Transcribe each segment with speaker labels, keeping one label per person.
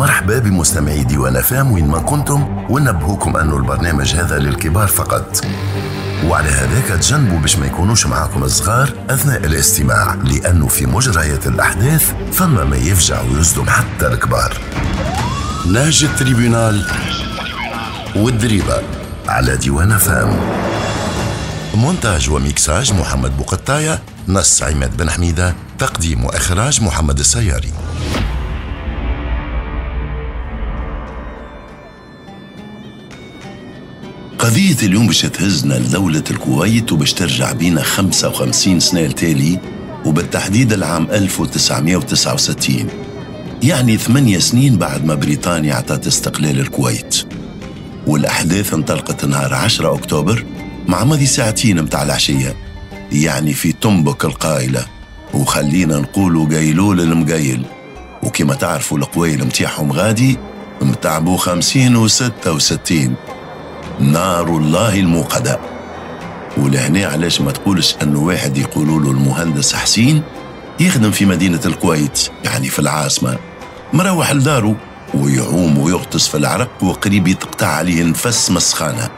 Speaker 1: مرحبا بمستمعي ديوان FM وين ما كنتم، ونبهوكم أنه البرنامج هذا للكبار فقط، وعلى هذاك تجنبوا باش ما يكونوش معاكم الصغار أثناء الاستماع، لأنه في مجريات الأحداث فما ما يفجع ويصدم حتى الكبار. نهج ال tribunal والدريبة على ديوان FM. مونتاج وميكساج محمد بوقطاية، نص عماد بن حميدة، تقديم وإخراج محمد السياري.
Speaker 2: قضية اليوم باش تهزنا لدولة الكويت وباش ترجع بينا 55 سنة التالي، وبالتحديد العام 1969، يعني 8 سنين بعد ما بريطانيا اعطت استقلال الكويت. والأحداث انطلقت نهار 10 أكتوبر مع ماضي ساعتين متاع العشية، يعني في تنبك القائلة، وخلينا نقولوا قيلول المقيل. وكما تعرفوا القويل متاعهم غادي متعبوا 50 و66، نار الله الموقدة. ولهنا علاش ما تقولش أنه واحد يقولوا له المهندس حسين يخدم في مدينة الكويت، يعني في العاصمة، مروح لداره ويعوم ويغطس في العرق وقريب يتقطع عليه نفس مسخانة،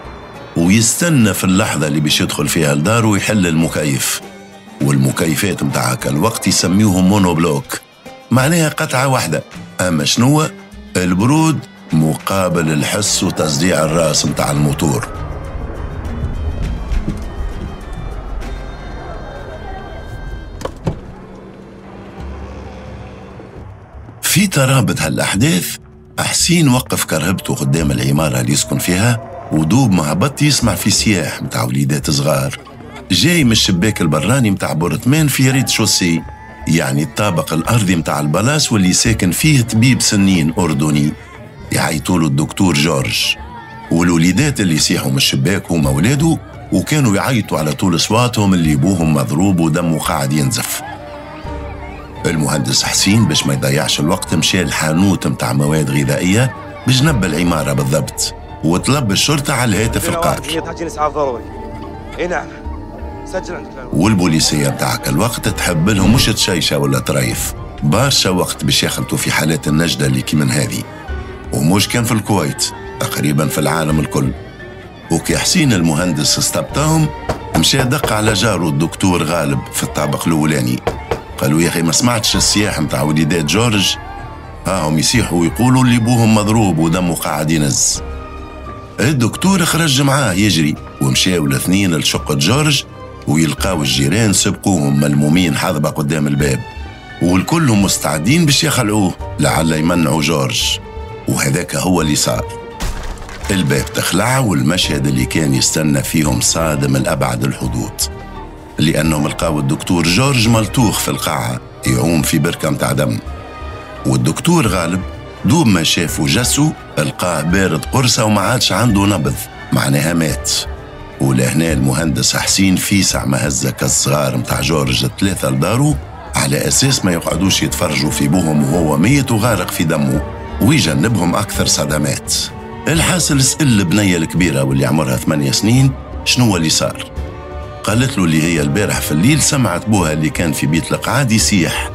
Speaker 2: ويستنى في اللحظة اللي باش يدخل فيها لداره ويحل المكيف. والمكيفات متاعك الوقت يسميوهم monobloc، معناها قطعة واحدة، أما شنو البرود مقابل الحس وتصديع الراس متاع الموتور. في ترابط هالأحداث، حسين وقف كرهبته قدام العمارة اللي يسكن فيها، ودوب ما هبط يسمع في سياح متاع وليدات صغار جاي من الشباك البراني متاع بورتمان في rez-de-chaussée، يعني الطابق الأرضي متاع ال palace واللي ساكن فيه طبيب سنين أردني يعيطوله الدكتور جورج. والوليدات اللي يسيحوا من الشباك هما ولاده، وكانوا يعيطوا على طول صواتهم اللي بوهم مضروب ودمه قاعد ينزف. المهندس حسين باش ما يضيعش الوقت مشى الحانوت متاع مواد غذائية بجنب العمارة بالضبط، وطلب الشرطة على الهاتف القائل. والبوليسية متاعك الوقت تحب لهم مش تشيشة ولا تريف برشا وقت باش يخلطوا في حالات النجدة اللي كي من هذه، ومش كان في الكويت، تقريبا في العالم الكل. وكي حسين المهندس استبطاهم مشى دق على جاره الدكتور غالب في الطابق الأولاني، قالوا يا أخي ما سمعتش السياح متاع وليدات جورج؟ هاهم يسيحوا ويقولوا اللي بوهم مضروب ودمه قاعد ينز. الدكتور خرج معاه يجري، ومشاو الاثنين لشقة جورج، ويلقاو الجيران سبقوهم ملمومين حظبة قدام الباب، والكلهم مستعدين باش يخلعوه لعل يمنعوا جورج. وهذاك هو اللي صار. الباب تخلع، والمشهد اللي كان يستنى فيهم صادم لأبعد الحدود، لأنهم لقاو الدكتور جورج ملطوخ في القاعة يعوم في بركة متاع دم. والدكتور غالب دوب ما شافوا جسو لقاه بارد قرصة وما عادش عنده نبض، معناها مات. ولهنا المهندس حسين في ساعة ما هزك الصغار متاع جورج الثلاثة لدارو على أساس ما يقعدوش يتفرجوا في بوهم وهو ميت وغارق في دمه، ويجنبهم أكثر صدمات. الحاصل سأل البنية الكبيرة واللي عمرها 8 سنين شنو اللي صار. قالت له اللي هي البارح في الليل سمعت بوها اللي كان في بيت القعاد يسيح،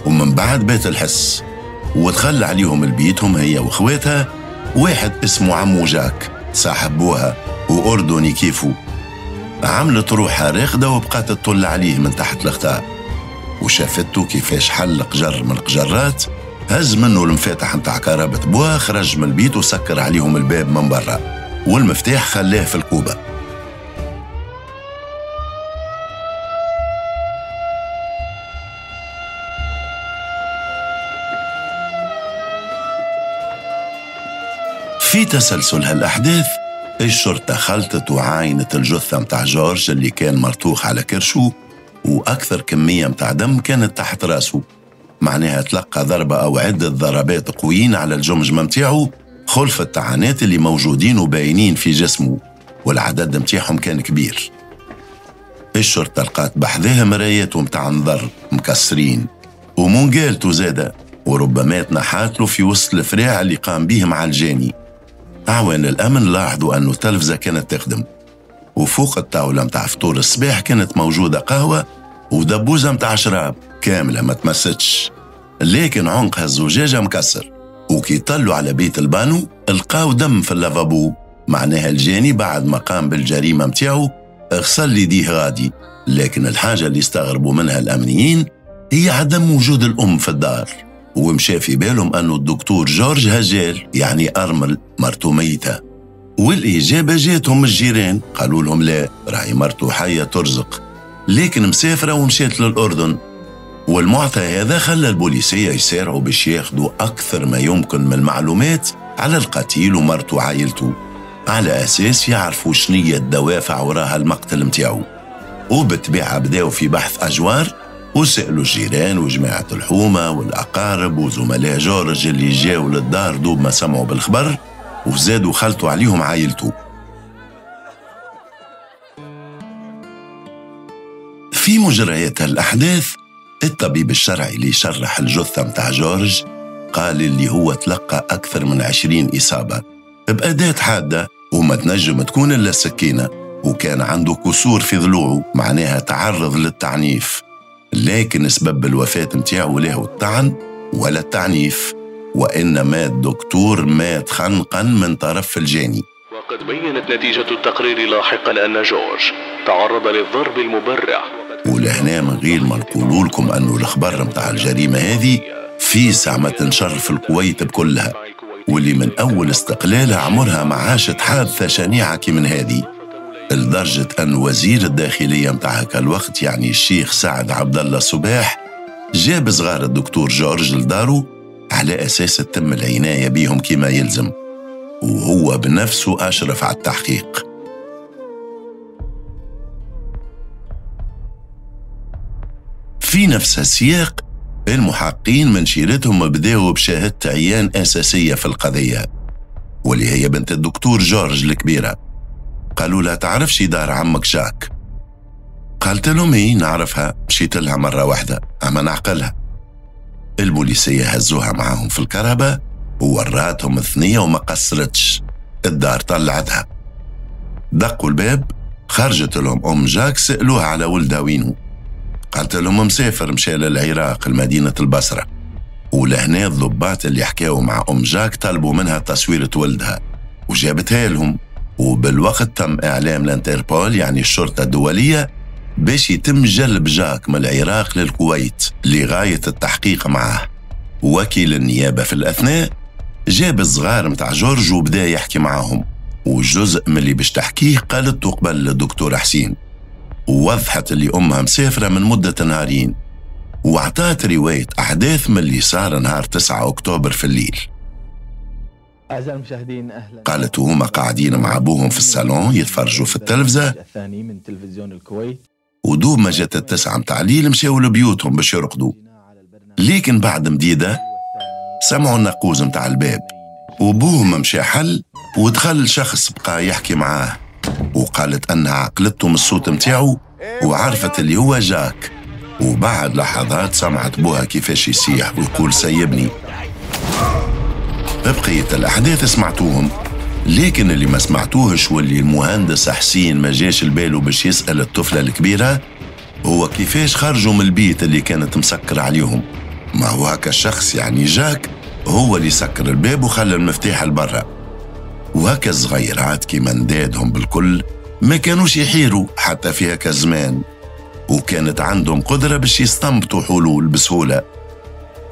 Speaker 2: ومن بعد بات الحس، ودخل عليهم البيتهم هي واخواتها واحد اسمه عمو جاك صاحب بوها وأردني كيفو. عملت روحها راقدة وبقات تطل عليه من تحت الغطاء، وشافته كيفاش حل قجر من القجرات، هز منه المفاتح متاع كرابة بوها، خرج من البيت وسكر عليهم الباب من برا، والمفتاح خلاه في الكوبة. في تسلسل هالأحداث الشرطة خلطت وعاينت الجثة متاع جورج اللي كان مرتوخ على كرشو، وأكثر كمية متاع دم كانت تحت راسه، معناها تلقى ضربة أو عدة ضربات قويين على الجمجمة متاعه، خلف الطعنات اللي موجودين وباينين في جسمه، والعدد متاعهم كان كبير. الشرطة لقات بحذاها مراياته متاع نظر مكسرين ومنقالته زادة، وربما تنحات له في وسط الفراع اللي قام به مع الجاني. أعوان الأمن لاحظوا أنه التلفزة كانت تخدم، وفوق الطاولة متاع فطور الصباح كانت موجودة قهوة ودبوزة متاع شراب كاملة ما تمستش، لكن عنقها الزجاجة مكسر، وكي طلوا على بيت البانو لقاو دم في اللافابو، معناها الجاني بعد ما قام بالجريمة متاعو غسل يديه غادي. لكن الحاجة اللي استغربوا منها الأمنيين هي عدم وجود الأم في الدار، ومشى في بالهم أنه الدكتور جورج هجال يعني أرمل مرته ميتة. والإجابة جاتهم الجيران، قالوا لهم لا، راهي مرته حية ترزق، لكن مسافرة ومشات للأردن. والمعطى هذا خلى البوليسية يسارعوا باش ياخذوا أكثر ما يمكن من المعلومات على القتيل ومرته وعائلته، على أساس يعرفوا شنية الدوافع وراها المقتل متاعو. وبالطبيعة بداوا في بحث أجوار، وسألوا الجيران وجماعة الحومة والأقارب وزملاء جورج اللي جاوا للدار دوب ما سمعوا بالخبر، وزادوا خلطوا عليهم عائلته. في مجريات الأحداث، الطبيب الشرعي اللي شرح الجثة متاع جورج قال اللي هو تلقى أكثر من 20 إصابة بأداة حادة وما تنجم تكون إلا السكينة، وكان عنده كسور في ضلوعه، معناها تعرض للتعنيف. لكن سبب الوفاة متاعه له الطعن ولا التعنيف، وإنما الدكتور مات خنقا من طرف الجاني.
Speaker 3: وقد بينت نتيجة التقرير لاحقا أن جورج تعرض للضرب المبرح.
Speaker 2: ولهنا من غير ما نقولوا لكم أنه الخبر متاع الجريمة هذه في ساعة ما تنشر في الكويت بكلها، واللي من أول استقلالها عمرها ما عاشت حادثة شنيعة كي من هذه، لدرجة أن وزير الداخلية متاع هكا الوقت يعني الشيخ سعد عبد الله صباح جاب صغار الدكتور جورج لدارو على أساس تتم العناية بيهم كما يلزم، وهو بنفسه أشرف على التحقيق. في نفس السياق المحققين من شيرتهم بداوا بشهادة عيان أساسية في القضية، واللي هي بنت الدكتور جورج الكبيرة. قالوا لها تعرفش دار عمك جاك؟ قالت لهم ايه نعرفها، مشيت لها مرة واحدة أما نعقلها. البوليسية هزوها معاهم في الكهرباء ووراتهم الثنية وما قصرتش، الدار طلعتها. دقوا الباب، خرجت لهم أم جاك، سألوها على ولدها وينه، قالت لهم مسافر مشى للعراق لمدينة البصرة. ولهنا الضباط اللي حكاوا مع أم جاك طلبوا منها تصويرة ولدها وجابتها لهم. وبالوقت تم إعلام الانتربول يعني الشرطة الدولية باش يتم جلب جاك من العراق للكويت لغاية التحقيق معه. وكيل النيابة في الأثناء جاب الصغار متاع جورج وبدا يحكي معاهم، وجزء من اللي باش تحكيه قالته قبل للدكتور حسين، ووضحت اللي أمها مسافرة من مدة نهارين، وعطات رواية أحداث من اللي صار نهار 9 أكتوبر في الليل.
Speaker 4: أعزائي المشاهدين أهلا.
Speaker 2: قالت وهما قاعدين مع أبوهم في الصالون يتفرجوا في التلفزة،
Speaker 4: الثاني من تلفزيون الكويت،
Speaker 2: ودوب ما جات 9 متاع الليل مشاو لبيوتهم باش يرقدوا. لكن بعد مديدة سمعوا النقوز متاع الباب، وبوهم مشى حل ودخل شخص بقى يحكي معاه، وقالت أنها عقلته من الصوت متاعه وعرفت اللي هو جاك. وبعد لحظات سمعت بوها كيفاش يصيح ويقول سيبني. بقية الأحداث سمعتوهم، لكن اللي ما سمعتوهش واللي المهندس حسين ما جاش لباله باش يسأل الطفلة الكبيرة هو كيفاش خرجوا من البيت اللي كانت مسكرة عليهم. ما هو هكا الشخص يعني جاك هو اللي سكر الباب وخلى المفتاح لبرا. وهكا الصغيرات كيما ندادهم بالكل ما كانوش يحيروا حتى في هكا الزمان، وكانت عندهم قدرة باش يستنبطوا حلول بسهولة.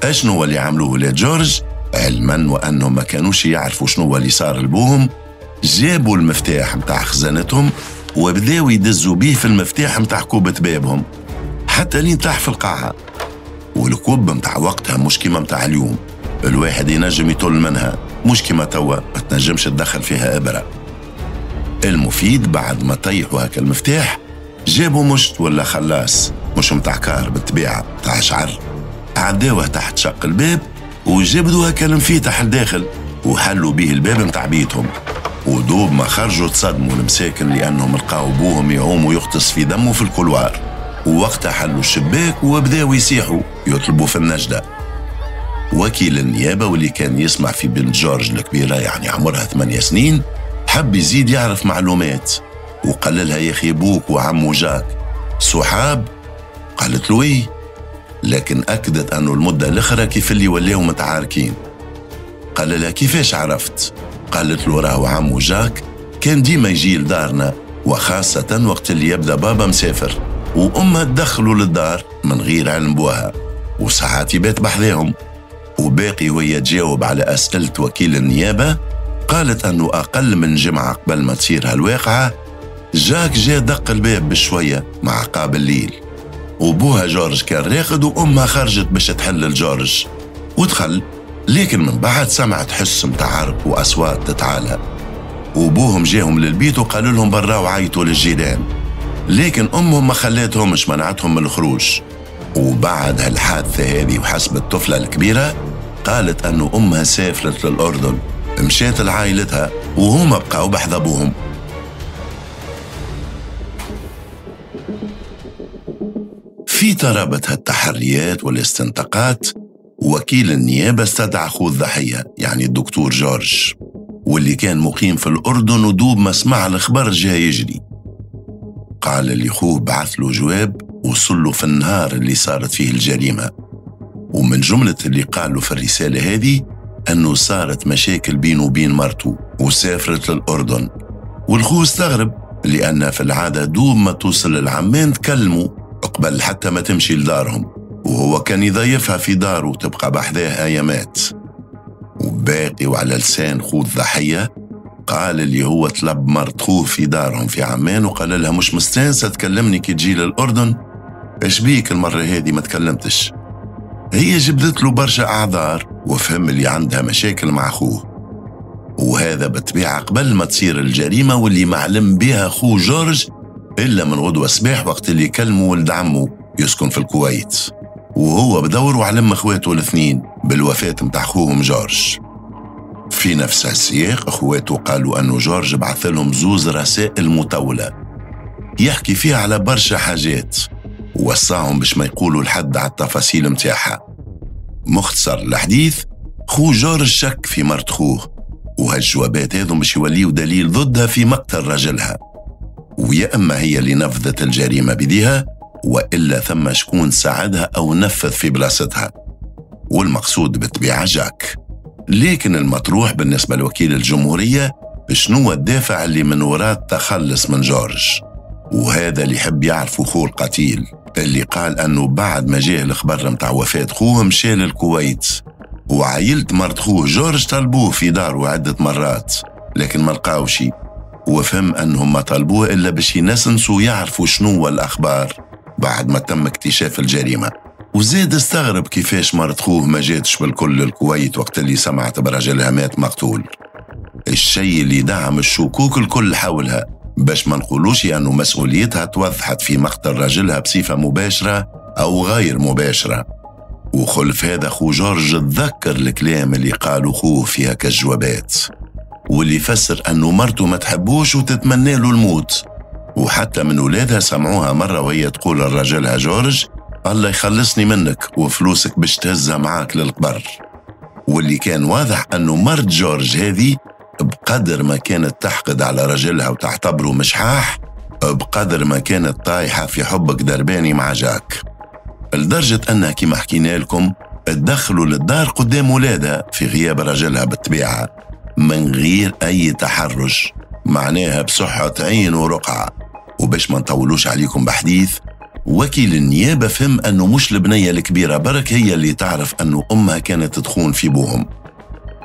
Speaker 2: اشنو اللي عملوه ولاد جورج؟ علما وانهم ما كانوش يعرفوا شنو اللي صار لبوهم، جابوا المفتاح متاع خزانتهم وبداوا يدزوا بيه في المفتاح متاع كوبة بابهم حتى لين طاح في القاعة. والكوب متاع وقتها مش كيما متاع اليوم، الواحد ينجم يطل منها، مش كيما توا ما تنجمش تدخل فيها إبرة. المفيد بعد ما طيحوا هكا المفتاح جابوا مشط ولا خلاص، مش متاع كار بالطبيعة، متاع شعر، عداوه تحت شق الباب وجبدوا هكا المفتاح لداخل وحلوا به الباب متاع بيتهم. ودوب ما خرجوا تصدموا المساكن لأنهم لقاو بوهم يعوم ويغطس في دمه في ال couloir. ووقتها حلوا الشباك وبداوا يصيحوا يطلبوا في النجدة. وكيل النيابة واللي كان يسمع في بنت جورج الكبيرة يعني عمرها 8 سنين حب يزيد يعرف معلومات، وقال لها يا أخي بوك وعمو جاك صحاب؟ قالت له إيه، لكن أكدت أنه المدة الأخرى كيف اللي ولاو متعاركين. قال لها كيفاش عرفت؟ قالت له راهو عمو جاك كان ديما يجي لدارنا، وخاصة وقت اللي يبدأ بابا مسافر، وأمها تدخلوا للدار من غير علم بوها، وساعات يبات بحذاهم. وباقي وهي تجاوب على أسئلة وكيل النيابة قالت أنه أقل من جمعة قبل ما تصير هالواقعة جاك جا دق الباب بشوية مع عقاب الليل، وبوها جورج كان راقد وأمها خرجت باش تحل لجورج ودخل، لكن من بعد سمعت حس متاع عرق وأصوات تتعالى، وبوهم جاهم للبيت وقالوا لهم برا وعيطوا للجيران، لكن أمهم ما خلاتهمش، منعتهم من الخروج. وبعد هالحادثة هذه وحسب الطفلة الكبيرة قالت أنه أمها سافرت للأردن، مشات لعائلتها وهما بقاو بحذا أبوهم. في ترابط هالتحريات والاستنطاقات وكيل النيابة استدعى أخوه الضحية، يعني الدكتور جورج، واللي كان مقيم في الأردن، ودوب ما سمع الخبر جاي يجري. قال اللي خوه بعث له جواب وصل له في النهار اللي صارت فيه الجريمة، ومن جملة اللي قالوا في الرسالة هذه أنه صارت مشاكل بينه وبين مرته وسافرت للأردن. والخو استغرب لأن في العادة دوب ما توصل للعمان تكلموا قبل حتى ما تمشي لدارهم، وهو كان يضيفها في داره وتبقى بحذاه أيامات. وباقي وعلى لسان خو الضحية قال اللي هو طلب مرت خوه في دارهم في عمان وقال لها مش مستانسة تكلمني كي تجي للأردن، اش بيك المرة هذه ما تكلمتش؟ هي جبدت له برشا أعذار وفهم اللي عندها مشاكل مع خوه، وهذا بالطبيعة قبل ما تصير الجريمة واللي معلم بها خو جورج إلا من غدوة صباح وقت اللي كلموا ولد عمه يسكن في الكويت، وهو بدوره علم اخواته الاثنين بالوفاة متاع خوهم جورج. في نفس السياق اخواته قالوا أنه جورج بعث لهم زوز رسائل مطولة يحكي فيها على برشا حاجات، ووصاهم باش ما يقولوا لحد على التفاصيل متاعها. مختصر الحديث، خو جورج شك في مرت خوه، وهالجوابات هذو باش يوليو دليل ضدها في مقتل رجلها، ويا أما هي اللي نفذت الجريمة بديها وإلا ثم شكون ساعدها أو نفذ في بلاصتها، والمقصود بالطبيعة جاك. لكن المطروح بالنسبة لوكيل الجمهورية شنو الدافع اللي من وراء التخلص من جورج، وهذا اللي يحب يعرفه خو القتيل اللي قال أنه بعد ما جاه الخبر متاع وفاة خوه مشى للكويت، وعائلة مرت خوه جورج طلبوه في داره عدة مرات لكن ما لقاوش، وفهم أنهم ما طلبوه إلا باش ينسنسوا يعرفوا شنو الأخبار بعد ما تم اكتشاف الجريمة. وزاد استغرب كيفاش مرت خوه ما جاتش بالكل للكويت وقت اللي سمعت برجلها مات مقتول، الشيء اللي دعم الشكوك الكل حولها، باش ما نقولوش أنه مسؤوليتها توضحت في مقتل رجلها بصفة مباشرة أو غير مباشرة. وخلف هذا خو جورج تذكر الكلام اللي قالوا خوه فيها كالجوابات، واللي فسر أنه مرته ما تحبوش وتتمنى له الموت، وحتى من ولادها سمعوها مرة وهي تقول لرجلها جورج الله يخلصني منك وفلوسك باش تهزها معاك للقبر. واللي كان واضح أنه مرت جورج هذه بقدر ما كانت تحقد على رجلها وتعتبره مشحاح بقدر ما كانت طايحة في حبك درباني مع جاك، لدرجة أنها كما حكينا لكم تدخلوا للدار قدام ولادها في غياب رجلها بالطبيعة من غير أي تحرج، معناها بصحة عين ورقعة. وباش ما نطولوش عليكم بحديث، وكيل النيابة فهم أنه مش البنية الكبيرة برك هي اللي تعرف أنه أمها كانت تخون في بوهم،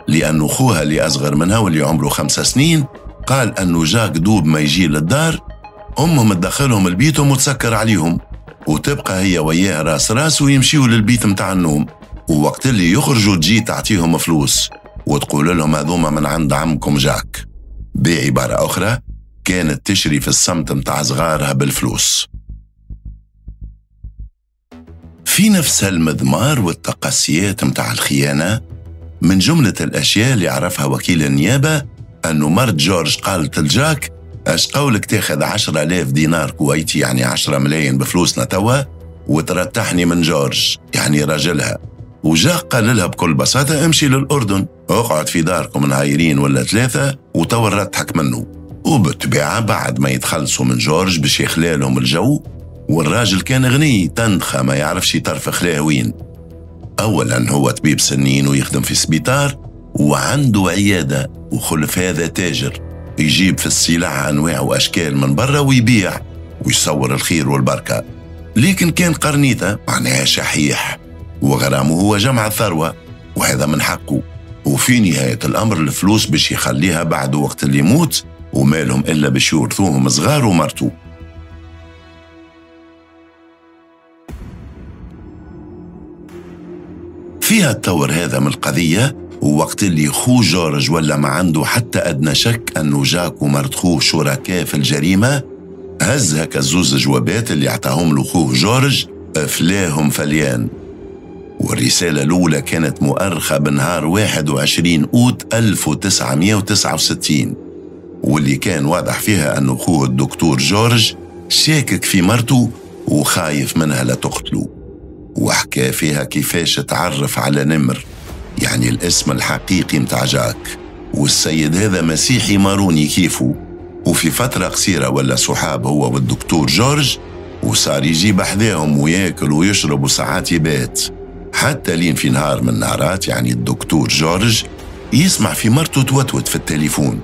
Speaker 2: لأنه خوها اللي أصغر منها واللي عمره 5 سنين قال أنه جاك دوب ما يجي للدار أمهم تدخلهم لبيتهم وتسكر عليهم، وتبقى هي وياه راس راس ويمشيوا للبيت متاع النوم، ووقت اللي يخرجوا تجي تعطيهم فلوس وتقول لهم هذوما من عند عمكم جاك. بعبارة أخرى كانت تشري في الصمت متاع صغارها بالفلوس. في نفس المضمار والتقاسيات متاع الخيانة، من جملة الأشياء اللي عرفها وكيل النيابة أنه مرت جورج قالت لجاك أش قولك تاخذ 10,000 دينار كويتي، يعني 10 ملايين بفلوسنا توا، وترتحني من جورج يعني راجلها. وجاك قال لها بكل بساطة امشي للأردن اقعد في داركم نهايرين ولا 3 وتوا نرتحك منه. وبالطبيعة بعد ما يتخلصوا من جورج باش يخلالهم الجو، والراجل كان غني تنخة ما يعرفش يطرف خلاه وين. أولا هو طبيب سنين ويخدم في سبيطار، وعنده عيادة، وخلف هذا تاجر يجيب في السلع أنواع وأشكال من برا ويبيع ويصور الخير والبركة. لكن كان قرنيطة معناها شحيح، وغرامه هو جمع الثروة وهذا من حقه، وفي نهاية الأمر الفلوس باش يخليها بعد وقت اللي يموت، ومالهم إلا باش يورثوهم صغار ومرته. فيها التطور هذا من القضية، ووقت اللي خو جورج ولا ما عنده حتى أدنى شك أنه جاك ومرت خوه شركاء في الجريمة، هز هكا الزوز جوابات اللي اعطاهم له خوه جورج فلاهم فليان. والرسالة الأولى كانت مؤرخة بنهار 21 أوت 1969، واللي كان واضح فيها أنه خوه الدكتور جورج شاكك في مرته وخايف منها لا تقتله. وحكى فيها كيفاش تعرف على نمر، يعني الاسم الحقيقي متاع جاك، والسيد هذا مسيحي ماروني كيفه، وفي فترة قصيرة ولا صحاب هو والدكتور جورج، وصار يجيب أحذاهم وياكل ويشرب وساعات يبات، حتى لين في نهار من النهارات يعني الدكتور جورج يسمع في مرته توتوت في التليفون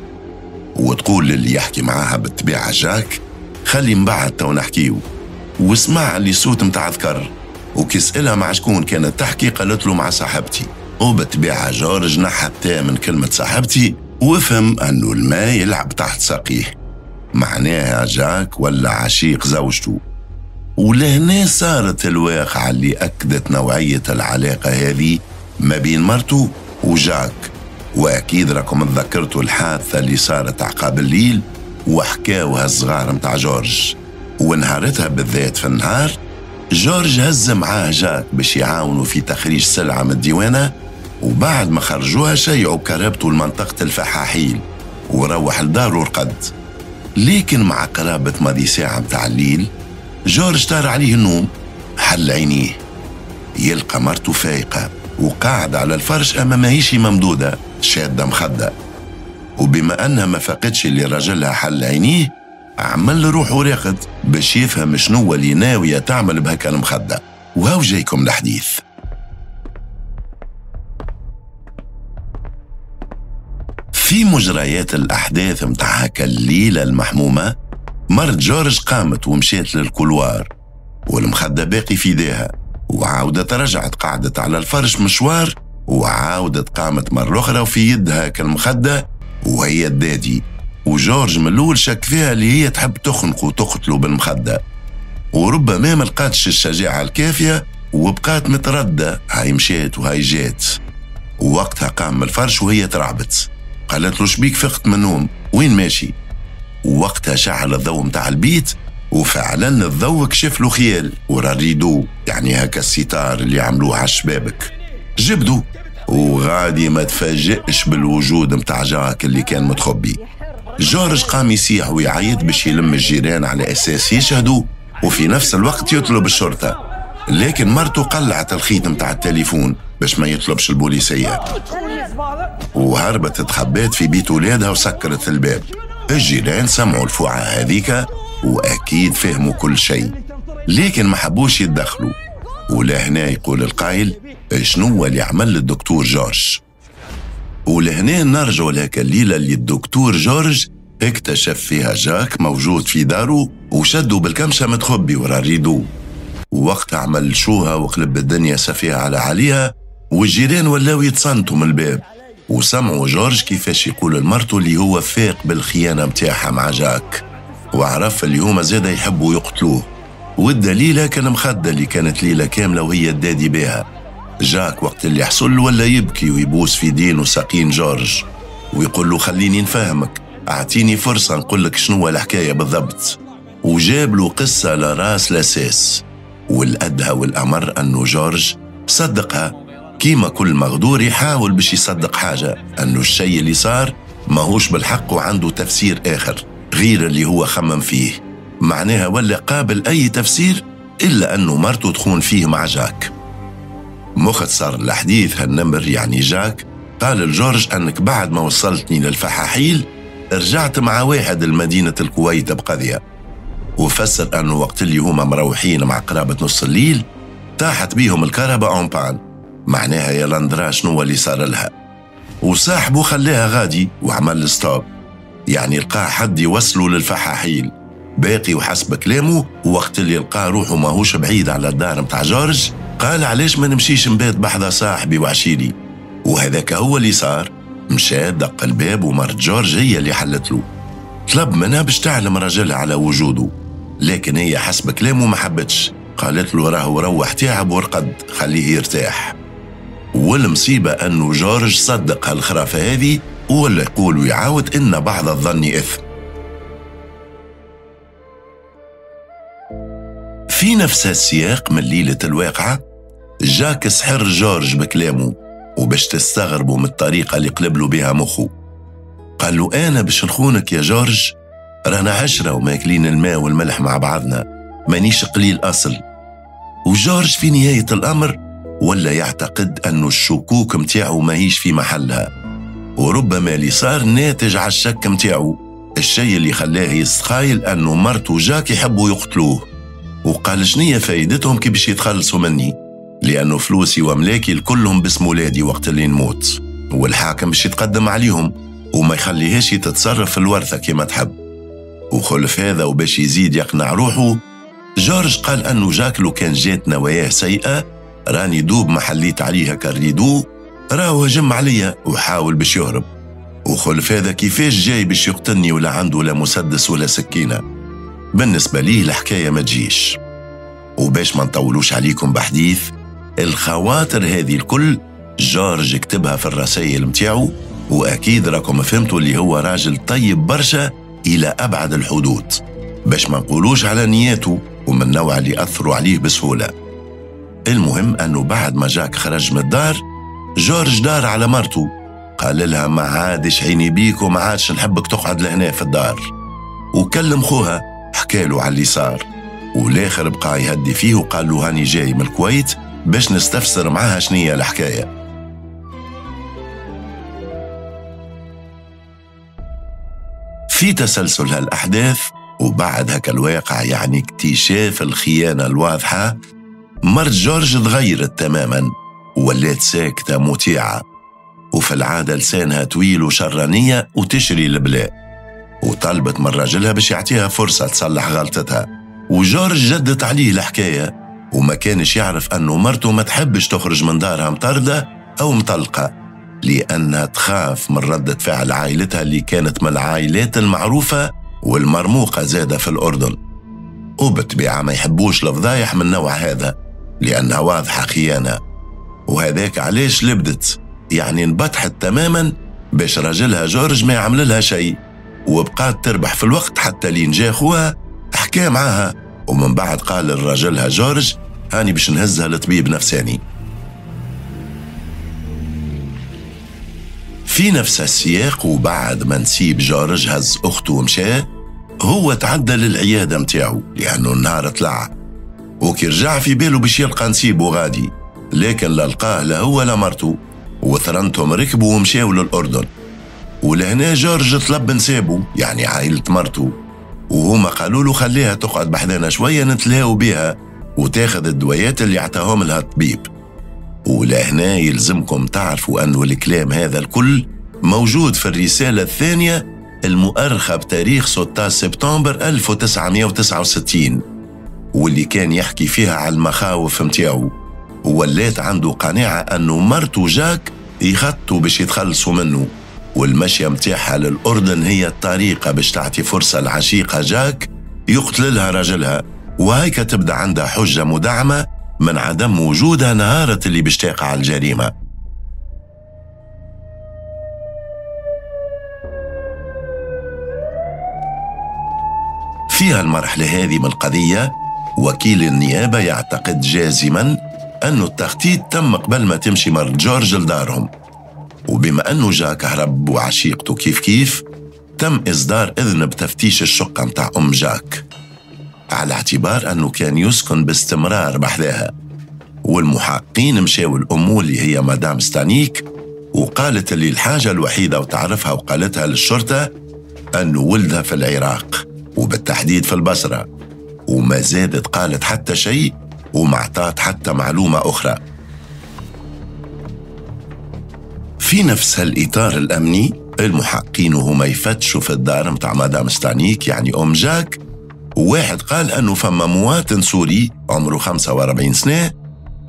Speaker 2: وتقول للي يحكي معاها بالطبيعة جاك خلي من بعد تو نحكيو، وسمع اللي صوت متاع ذكر، وكي سألها مع شكون كانت تحكي قالت له مع صاحبتي. وبالطبيعة جورج نحى التاء من كلمة صاحبتي وفهم أنه الماء يلعب تحت ساقيه، معناها جاك ولا عشيق زوجته. ولهنا صارت الواقعة اللي أكدت نوعية العلاقة هذه ما بين مرته وجاك. وأكيد راكم تذكرتوا الحادثة اللي صارت عقاب الليل وحكاوها الصغار متاع جورج. ونهارتها بالذات في النهار جورج هز معاه جاك باش يعاونوا في تخريج سلعة من الديوانة، وبعد ما خرجوها شيعوا كربته لمنطقة الفحاحيل وروح لداره ورقد. لكن مع قرابة ماضي ساعة متاع الليل جورج طار عليه النوم، حل عينيه يلقى مرته فايقة وقاعدة على الفرش أما ماهيش ممدودة شادة مخدة. وبما أنها ما فاقتش اللي رجلها حل عينيه عمل روحه راقد باش يفهم شنو اللي ناوية تعمل بهكا المخدة. وهاو جايكم الحديث. في مجريات الأحداث متاع هكا الليلة المحمومة، مرت جورج قامت ومشيت لل couloir والمخدة باقي في ايديها، وعاودت رجعت قعدت على الفرش مشوار، وعاودت قامت مرة أخرى وفي يدها كالمخدة وهي الدادي. وجورج من الأول شك فيها اللي هي تحب تخنق وتقتله بالمخدة، وربما ما لقاتش الشجاعة الكافية وبقات متردة، هاي مشيت وهاي جات. ووقتها قام من الفرش وهي ترعبت، قالت له شبيك فقت من النوم وين ماشي؟ ووقتها شعل الضوء متاع البيت، وفعلا الضوء كشف له خيال ورا ال rideau، يعني هكا الستار اللي عملوه على الشبابك، جبدو وغادي ما تفاجئش بالوجود متاع جاك اللي كان متخبي. جورج قام يصيح ويعيط باش يلم الجيران على اساس يشهدوا، وفي نفس الوقت يطلب الشرطة، لكن مرته قلعت الخيط متاع التليفون باش ما يطلبش البوليسية، وهربت تخبات في بيت ولادها وسكرت الباب. الجيران سمعوا الفوعة هذيك وأكيد فهموا كل شيء، لكن ما حبوش يتدخلوا. ولهنا يقول القائل شنو اللي عمل الدكتور جورج؟ ولهنا نرجع لهاك الليلة اللي الدكتور جورج اكتشف فيها جاك موجود في داره وشدوا بالكمشة متخبي ورا ال rideau. ووقتها عمل شوها وقلب الدنيا سفيها على عليها، والجيران ولاو يتصنتوا من الباب، وسمعوا جورج كيفاش يقول لمرته اللي هو فاق بالخيانة متاعها مع جاك، وعرف اللي هما زادا يحبوا يقتلوه. والدليلة كان مخدة اللي كانت ليلة كاملة وهي الدادي بها. جاك وقت اللي حصل ولا يبكي ويبوس في دين وساقين جورج ويقول له خليني نفهمك، اعطيني فرصة نقول لك شنو الحكاية بالضبط. وجاب له قصة لا راس لا ساس. والأدهى والأمر أنه جورج صدقها، كيما كل مغدور يحاول باش يصدق حاجة أنه الشيء اللي صار ماهوش بالحق وعنده تفسير آخر غير اللي هو خمم فيه، معناها ولا قابل أي تفسير إلا أنه مرته تخون فيه مع جاك. مختصر الحديث هالنمر يعني جاك قال لجورج أنك بعد ما وصلتني للفحاحيل رجعت مع واحد لمدينة الكويت بقضية، وفسر أنه وقت اللي هما مروحين مع قرابة نص الليل طاحت بيهم الكهرباء en panne، معناها يا لندرا شنو اللي صار لها. وصاحبه خلاها غادي وعمل stop، يعني لقى حد يوصله للفحاحيل باقي. وحسب كلامه وقت اللي لقى روحه ماهوش بعيد على الدار متاع جورج قال علاش ما نمشيش نبات بحذا صاحبي وعشيري، وهذاك هو اللي صار. مشى دق الباب ومرت جورج هي اللي حلت له، طلب منها باش تعلم رجلها على وجوده، لكن هي حسب كلامه ما حبتش، قالت له راهو روح تعب ورقد خليه يرتاح. والمصيبة أنه جورج صدق هالخرافة هذه ولا يقول ويعاود إن بعض الظن إثم. في نفس السياق من ليلة الواقعة جاك سحر جورج بكلامه، وباش تستغربوا من الطريقة اللي قلبلو بها مخه. قال له أنا باش نخونك يا جورج، رانا 10 وماكلين الماء والملح مع بعضنا، مانيش قليل أصل. وجورج في نهاية الأمر ولا يعتقد أنه الشكوك متاعه ماهيش في محلها، وربما اللي صار ناتج على الشك متاعه، الشيء اللي خلاه يستخايل أنه مرته جاك يحبوا يقتلوه. وقال شنية فايدتهم كي باش يتخلصوا مني، لأنه فلوسي وأملاكي الكلهم باسم ولادي وقت اللي نموت، والحاكم باش يتقدم عليهم وما يخليهاش تتصرف في الورثة كما تحب. وخلف هذا وباش يزيد يقنع روحه، جورج قال أنه جاك لو كان جات نواياه سيئة راني دوب ما حليت عليها كال rideau راهو هجم عليا وحاول باش يهرب. وخلف هذا كيفاش جاي باش يقتلني ولا عنده لا مسدس ولا سكينة؟ بالنسبة ليه الحكاية ما تجيش. وباش ما نطولوش عليكم بحديث الخواطر هذه الكل جورج كتبها في الرسائل متاعو، وأكيد راكم فهمتوا اللي هو راجل طيب برشا إلى أبعد الحدود، باش ما نقولوش على نياته ومن النوع اللي أثروا عليه بسهولة. المهم أنه بعد ما جاك خرج من الدار جورج دار على مرته، قال لها ما عادش عيني بيك وما عادش نحبك تقعد لهنا في الدار. وكلم خوها حكاله على اللي صار، والآخر بقى يهدي فيه وقال له هاني جاي من الكويت باش نستفسر معاها شنية الحكاية. في تسلسل هالأحداث وبعد هكا الواقع، يعني اكتشاف الخيانة الواضحة، مرت جورج تغيرت تماما وولات ساكتة مطيعة، وفي العادة لسانها طويل وشرانية وتشري البلاء، وطلبت من راجلها باش يعطيها فرصة تصلح غلطتها. وجورج جدت عليه الحكاية وما كانش يعرف أنه مرته ما تحبش تخرج من دارها مطردة أو مطلقة، لأنها تخاف من ردة فعل عائلتها اللي كانت من العائلات المعروفة والمرموقة زادة في الأردن، وبالطبيعة ما يحبوش الفضايح من نوع هذا لأنها واضحة خيانة. وهذاك علاش لبدت، يعني انبطحت تماما باش راجلها جورج ما يعمل لها شيء، وبقات تربح في الوقت حتى لين جا خوها حكى معاها، ومن بعد قال لراجلها جورج هاني باش نهزها لطبيب نفساني. في نفس السياق وبعد ما نسيب جورج هز أخته ومشى، هو تعدى للعيادة متاعو لأنه النهار طلع، وكي رجع في باله باش يلقى نسيبه غادي، لكن لا لقاه لا هو لا مرته، وثرنتهم ركبوا ومشاو للأردن. ولهنا جورج طلب نسابه يعني عائلة مرته، وهما قالوا له خليها تقعد بحذانا شوية نتلاهوا بيها وتاخذ الدويات اللي عطاهم لها الطبيب. ولهنا يلزمكم تعرفوا أنه الكلام هذا الكل موجود في الرسالة الثانية المؤرخة بتاريخ 16 سبتمبر 1969، واللي كان يحكي فيها على المخاوف متاعو، وولات عنده قناعة أنه مرته جاك يخطوا باش يتخلصوا منه، والمشية متاعها للأردن هي الطريقة باش تعطي فرصة لعشيقة جاك يقتل لها رجلها، وهيك تبدأ عندها حجة مدعمة من عدم وجودها نهارة اللي باش تقع الجريمة. فيها المرحلة هذه من القضية وكيل النيابة يعتقد جازما أنه التخطيط تم قبل ما تمشي مرت جورج لدارهم، وبما أنه جاك هرب وعشيقته كيف كيف تم إصدار إذن بتفتيش الشقة متاع أم جاك على اعتبار أنه كان يسكن باستمرار بحذاها. والمحققين مشاو الأم اللي هي مدام ستانيك، وقالت اللي الحاجة الوحيدة وتعرفها وقالتها للشرطة أنه ولدها في العراق وبالتحديد في البصرة، وما زادت قالت حتى شيء وما عطات حتى معلومة أخرى. في في نفس هالإطار الأمني المحققين وهما يفتشوا في الدار متاع مدام ستانيك يعني أم جاك، واحد قال أنه فما مواطن سوري عمره 45 سنة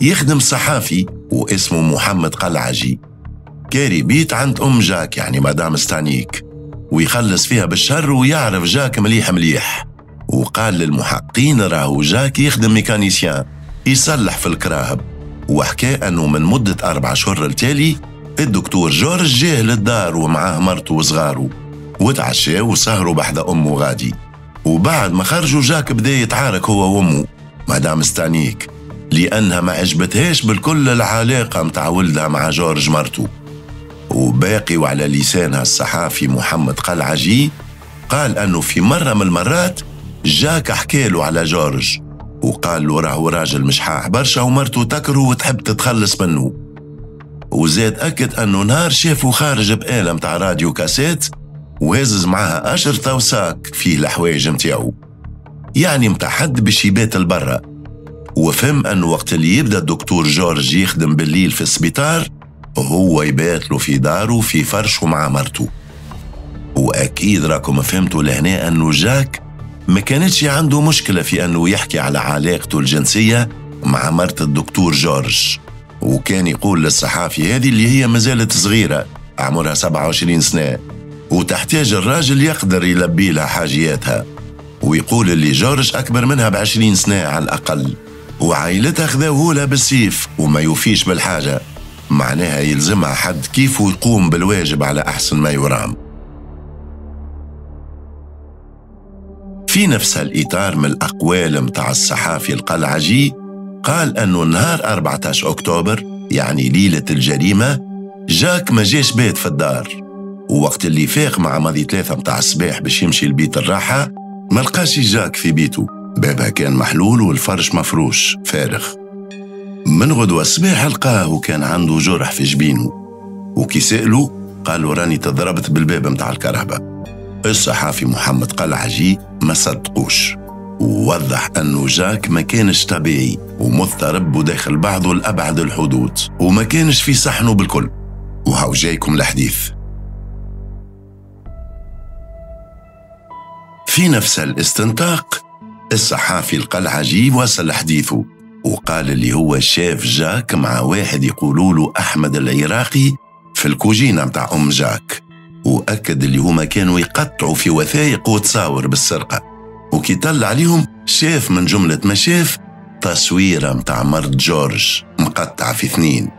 Speaker 2: يخدم صحافي واسمه محمد قلعجي، كاري بيت عند أم جاك يعني مدام ستانيك، ويخلص فيها بالشهر ويعرف جاك مليح مليح. وقال للمحققين راهو جاك يخدم mécanicien يصلح في الكراهب، وحكى أنه من مدة 4 أشهر التالي الدكتور جورج جاه للدار ومعاه مرته وصغاره، وتعشاو وسهروا بحذا أمه غادي. وبعد ما خرجوا جاك بدا يتعارك هو وأمه مدام ستانيك، لأنها ما عجبتهاش بالكل العلاقة متاع ولدها مع جورج مرته. وباقي وعلى لسانها الصحافي محمد قلعجي قال أنه في مرة من المرات جاك حكاله على جورج وقال له راهو راجل مشحاح برشا ومرته تكره وتحب تتخلص منه. وزاد أكد أنه نهار شافه خارج بآلة متاع راديو كاسيت وهزز معاها أشرطة و sac فيه الحوايج متاعو، يعني متاع حد باش يبات البرا. وفهم أنه وقت اللي يبدأ الدكتور جورج يخدم بالليل في السبيطار هو يبات له في داره في فرشه مع مرته. وأكيد راكم فهمتوا لهنا أنه جاك ما كانتش عنده مشكلة في أنه يحكي على علاقته الجنسية مع مرت الدكتور جورج، وكان يقول للصحافي هذه اللي هي مازالت صغيرة عمرها 27 سنة وتحتاج الراجل يقدر يلبي لها حاجياتها، ويقول اللي جورج أكبر منها ب20 سنة على الأقل، وعائلتها خذاوه لها بالسيف وما يوفيش بالحاجة، معناها يلزمها حد كيف يقوم بالواجب على أحسن ما يرام. في نفس الإطار من الأقوال متاع الصحافي القلعجي قال أنه نهار 14 أكتوبر يعني ليلة الجريمة جاك ما جاش بيت في الدار، ووقت اللي فاق مع ماضي 3 متاع الصباح باش يمشي لبيت الراحة ما لقاش جاك في بيته، بابها كان محلول والفرش مفروش فارغ. من غدوة الصباح لقاه وكان عنده جرح في جبينه، وكي سألوا قالوا راني تضربت بالباب متاع الكرهبة. الصحافي محمد قلعجي ما صدقوش ووضح أنه جاك ما كانش طبيعي ومضطرب وداخل بعضه لأبعد الحدود وما كانش في صحنه بالكل. وهاو جايكم الحديث. في نفس الاستنطاق الصحافي القلعجي وصل حديثه وقال اللي هو شاف جاك مع واحد يقولوا له أحمد العراقي في الكوجينة متاع أم جاك، وأكد اللي هما كانوا يقطعوا في وثائق وتصاور بالسرقة. وكي طلع عليهم شاف من جملة ما شاف تصويرة متاع مرت جورج مقطعة في 2،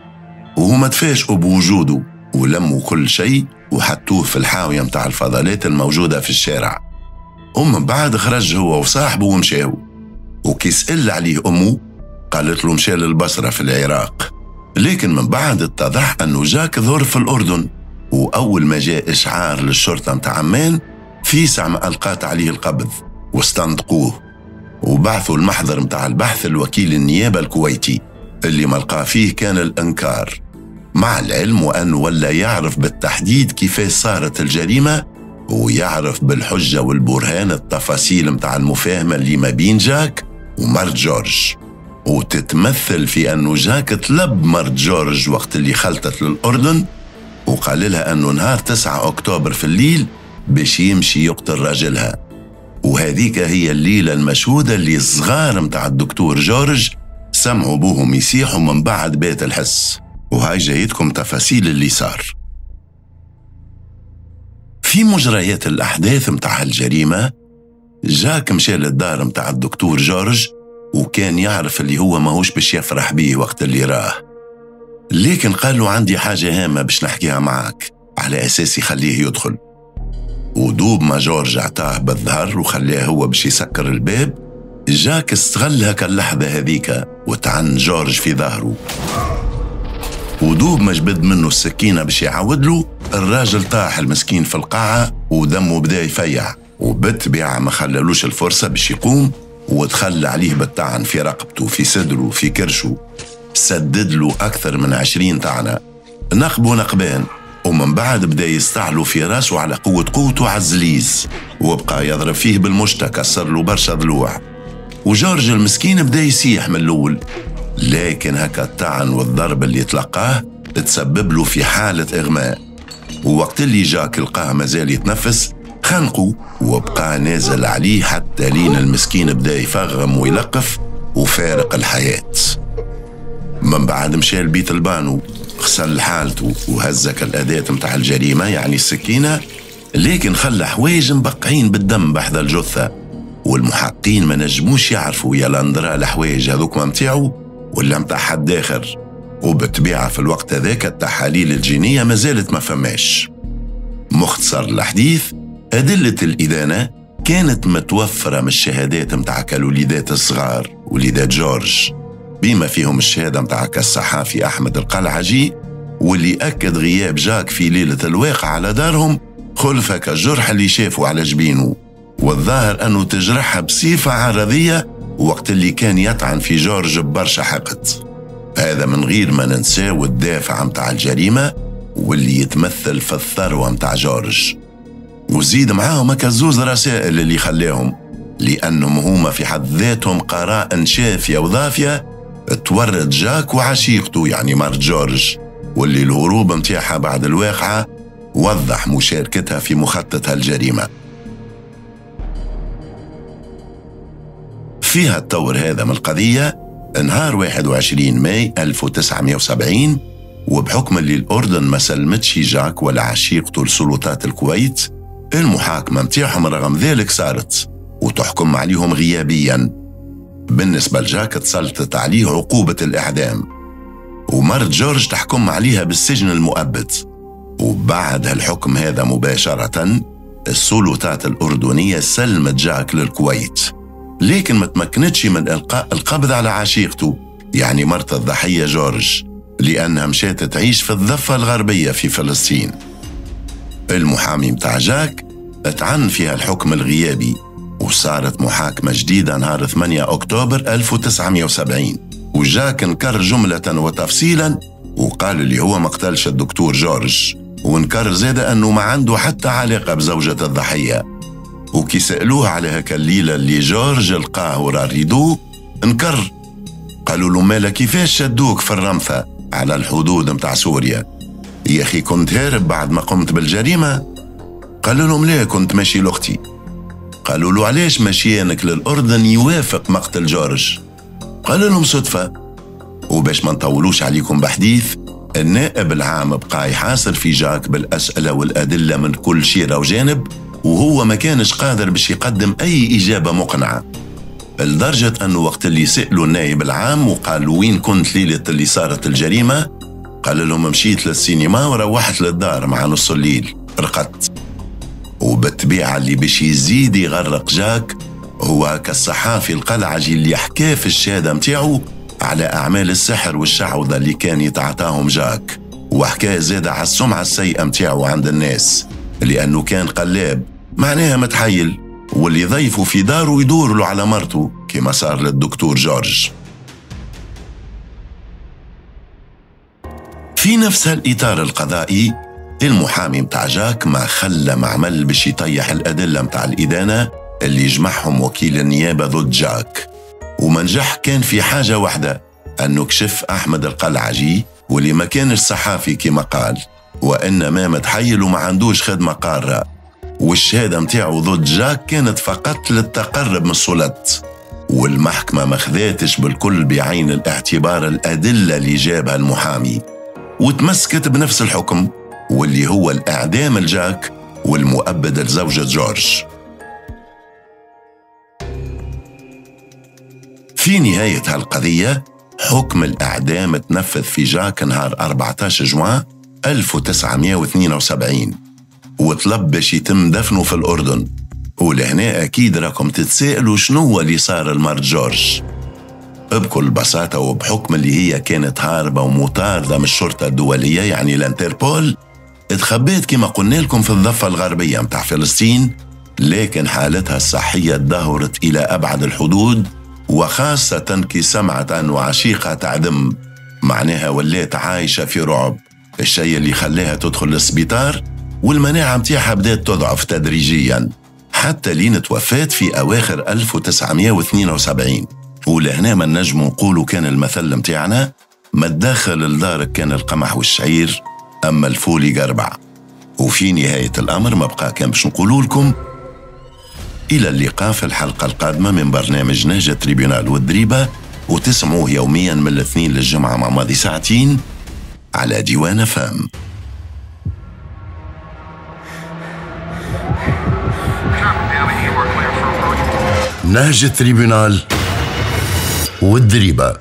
Speaker 2: وهما تفاجئوا بوجوده ولموا كل شيء وحطوه في الحاوية متاع الفضلات الموجودة في الشارع. ومن بعد خرج هو وصاحبه ومشاو، وكي سأل عليه أمه قالت له مشى للبصرة في العراق. لكن من بعد اتضح أنه جاك ظهر في الأردن، وأول ما جاء إشعار للشرطة متاع عمان في ساعة ما ألقات عليه القبض واستنطقوه وبعثوا المحضر متاع البحث الوكيل النيابة الكويتي اللي ما لقى فيه كان الإنكار، مع العلم وأنه ولا يعرف بالتحديد كيف صارت الجريمة ويعرف بالحجة والبرهان التفاصيل متاع المفاهمة اللي ما بين جاك ومرت جورج، وتتمثل في أنه جاك طلب مرت جورج وقت اللي خلطت للأردن وقال لها أنه نهار 9 أكتوبر في الليل باش يمشي يقتل راجلها. وهذيك هي الليلة المشهودة اللي الصغار متاع الدكتور جورج سمعوا بوهم يسيحوا من بعد بيت الحس. وهاي جايتكم تفاصيل اللي صار. في مجريات الأحداث متاع الجريمة جاك مشى للدار متاع الدكتور جورج وكان يعرف اللي هو ماهوش باش يفرح بيه وقت اللي راه، لكن قال له عندي حاجة هامة باش نحكيها معك على أساس يخليه يدخل. ودوب ما جورج عطاه بالظهر وخلاه هو باش يسكر الباب، جاك استغل هكا اللحظة هذيك وطعن جورج في ظهره. ودوب ما جبد منه السكينة باش يعاود له، الراجل طاح المسكين في القاعة ودمه بدا يفيع، وبالطبيعة ما خلالوش الفرصة باش يقوم وتخلى عليه بالطعن في رقبته في صدره في كرشه، سدد له أكثر من 20 طعنة، نقبه نقبان، ومن بعد بدا يستعلو في راسه على قوة قوته على الزليز، وبقى يضرب فيه بالمشتى كسر له برشا ضلوع. وجورج المسكين بدا يسيح من الأول، لكن هكا الطعن والضرب اللي تلقاه تسبب له في حالة إغماء. ووقت اللي جاك لقاه مازال يتنفس خنقه وبقى نازل عليه حتى لين المسكين بدا يفغم ويلقف وفارق الحياة. من بعد مشى لبيت البانو، غسل حالته وهزك الأداة متاع الجريمة يعني السكينة، لكن خلى حوايج مبقعين بالدم بحذا الجثة، والمحقين ما نجموش يعرفوا يا لاندرا الحوايج هذوك متاعو ولا متاع حد آخر. وبالطبيعة في الوقت هذاك التحاليل الجينية ما زالت ما فماش. مختصر الحديث، أدلة الإدانة كانت متوفرة من الشهادات متاع الوليدات الصغار وليدات جورج، بما فيهم الشهادة متاع الصحافي أحمد القلعجي، واللي أكد غياب جاك في ليلة الواقعة على دارهم خلفة كالجرح اللي شافه على جبينه، والظاهر أنه تجرحها بصفة عرضية وقت اللي كان يطعن في جورج ببرشا حقد. هذا من غير ما ننساو الدافع متاع الجريمة واللي يتمثل في الثروة متاع جورج، وزيد معاهم كزوز رسائل اللي خلاهم، لأنهم هما في حد ذاتهم قرائن شافية وضافية تورط جاك وعشيقته يعني مرت جورج، واللي الهروب متاعها بعد الواقعة وضح مشاركتها في مخطط الجريمة. فيها الطور هذا من القضية نهار 21 ماي 1970، وبحكم اللي الأردن ما سلمتش جاك ولا عشيقته لسلطات الكويت، المحاكمة متاعهم رغم ذلك صارت وتحكم عليهم غيابيا. بالنسبة لجاك تسلطت عليه عقوبة الإعدام، ومرت جورج تحكم عليها بالسجن المؤبد. وبعد الحكم هذا مباشرة السلطات الأردنية سلمت جاك للكويت، لكن ما تمكنتش من إلقاء القبض على عشيقته يعني مرت الضحية جورج، لأنها مشات تعيش في الضفة الغربية في فلسطين. المحامي متاع جاك اتعن فيها الحكم الغيابي، وصارت محاكمة جديدة نهار 8 أكتوبر 1970، وجاك انكر جملة وتفصيلا وقال اللي هو ما قتلش الدكتور جورج، وانكر زاد أنه ما عنده حتى علاقة بزوجة الضحية. وكي سألوه على هكا الليلة اللي جورج لقاه ورا ال rideau انكر، قالوا له مالا كيفاش شدوك في الرمثة على الحدود متاع سوريا؟ يا أخي كنت هارب بعد ما قمت بالجريمة؟ قالوا لهم لا كنت ماشي لأختي. قالوا له علاش مشيانك للأردن يوافق مقتل جورج؟ قالوا لهم صدفة. وباش ما نطولوش عليكم بحديث، النائب العام بقى يحاصر في جاك بالأسئلة والأدلة من كل شيرة وجانب، وهو ما كانش قادر باش يقدم أي إجابة مقنعة، لدرجة أنه وقت اللي سألوا النائب العام وقالوا وين كنت ليلة اللي صارت الجريمة، قال لهم مشيت للسينما وروحت للدار مع نص الليل رقدت. وبالطبيعة اللي باش يزيد يغرق جاك هو كالصحافي القلعجي اللي حكى في الشهادة متاعو على أعمال السحر والشعوذة اللي كان يتعاطاهم جاك، وحكى زاد على السمعة السيئة متاعو عند الناس لأنه كان قلاب معناها متحيل، واللي ضيفه في داره يدور له على مرته كما صار للدكتور جورج. في نفس الإطار القضائي، المحامي متاع جاك ما خلى معمل باش يطيح الأدلة متاع الإدانة اللي جمعهم وكيل النيابة ضد جاك، وما نجح كان في حاجة واحدة، أنه كشف أحمد القلعجي واللي ما كانش صحافي كما قال، وإنما متحيل وما عندوش خدمة قارة، والشهادة متاعه ضد جاك كانت فقط للتقرب من السلط، والمحكمة ما خذاتش بالكل بعين الاعتبار الأدلة اللي جابها المحامي، وتمسكت بنفس الحكم واللي هو الإعدام لجاك والمؤبد لزوجة جورج. في نهاية هالقضية حكم الإعدام تنفذ في جاك نهار 14 جوان 1972، وطلب باش يتم دفنه في الأردن. ولهنا أكيد راكم تتسائلوا شنو هو اللي صار لمرت جورج. بكل بساطة وبحكم اللي هي كانت هاربة ومطاردة من الشرطة الدولية يعني الانتربول، اتخبيت كما قلنا لكم في الضفة الغربية متاع فلسطين، لكن حالتها الصحية تدهورت إلى أبعد الحدود، وخاصة كي سمعت أنه عشيقها تعدم، معناها ولات عايشة في رعب، الشيء اللي خلاها تدخل للسبيطار، والمناعة متاعها بدأت تضعف تدريجيا حتى لين توفات في أواخر 1972. ولهنا ما نجمو نقولوا كان المثل متاعنا ما تدخل لدارك كان القمح والشعير، أما الفول يقربع. وفي نهاية الأمر ما بقى كان باش نقولوا لكم إلى اللقاء في الحلقة القادمة من برنامج نهج tribunal والدريبة، وتسمعوه يوميا من الاثنين للجمعة مع ماضي ساعتين على ديوان فام. نهج tribunal والدريبة،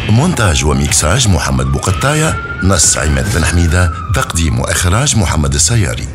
Speaker 2: مونتاج وميكساج محمد بوقطاية، نص عماد بن حميدة، تقديم وإخراج محمد السياري.